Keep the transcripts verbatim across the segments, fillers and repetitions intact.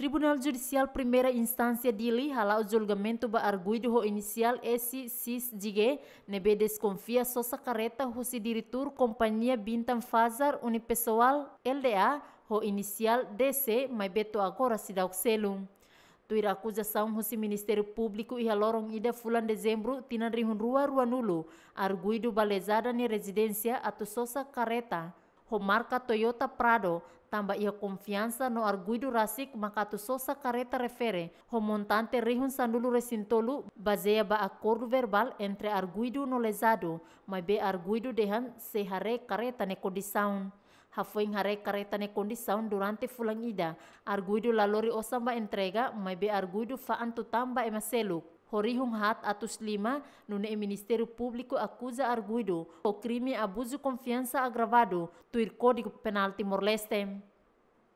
Tribunál Judisiál Primeira Instánsia Dili hala'o julgamentu ba arguidu ho inisiál S X G ne'ebé deskonfia sosa kareta husi diretór kompañia Bintang Fajar Unipessoal Lda ho inisiál D C, maibé to'o agora seidauk selu. Tuir akuzasaun husi Ministériu Públiku, iha loron ida fulan Dezembru tinan rihun rua ruanulu, arguidu ba lezada nia rezidénsia atu sosa kareta ho marka Toyota Prado, tanba iha konfiansa no arguidu rasik maka atu sosa kareta refere ho montante rihun sanulu-resin-tolu, bazeia ba akordu verbál entre arguidu no lezadu, maibé arguidu dehan sei haree kareta nia kondisaun. Hafoin haree kareta nia kondisaun durante fulan ida, arguidu la lori osan ba entrega, maibé arguidu fa'an tutan ba ema seluk. Ho rihun haat atus lima, nune'e Ministériu Públiku akuza arguidu ho krime abuzu konfiansa agravadu, tuir Kódigu Penál Timor-Leste.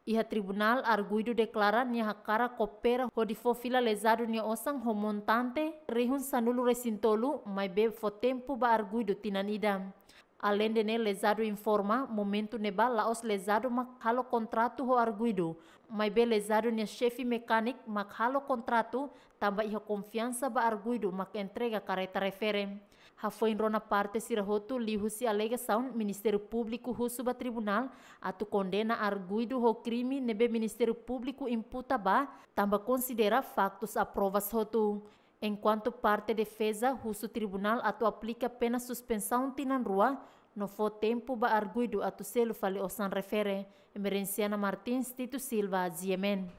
Iha tribunál, arguidu deklara nia hakarak koopera hodi fó fila lezadu nia osan ho montante rihun sanulu-resin-tolu, maibé fó tempu ba arguidu tinan ida. Aleinde ne'e, lezadu informa momentu ne'ebá la'ós lezadu mak halo kontratu ho arguidu, maibé lezadu nia xefe mekániku mak halo kontratu, tanba iha konfiansa ba arguidu mak entrega kareta refere. Hafoin rona parte sira hotu, liuhusi alegasaun, Ministériu Públiku husu ba tribunál atu kondena arguidu ho krime ne'ebé Ministériu Públiku imputa ba, tanba konsidera faktus aprovas hotu. Enkuantu parte defeza husu tribunál atu aplika pena suspensaun tinan rua, no fó tempu ba arguidu atu selu fali osan refere. Emerenciana Martins, Tito Silva, G M N.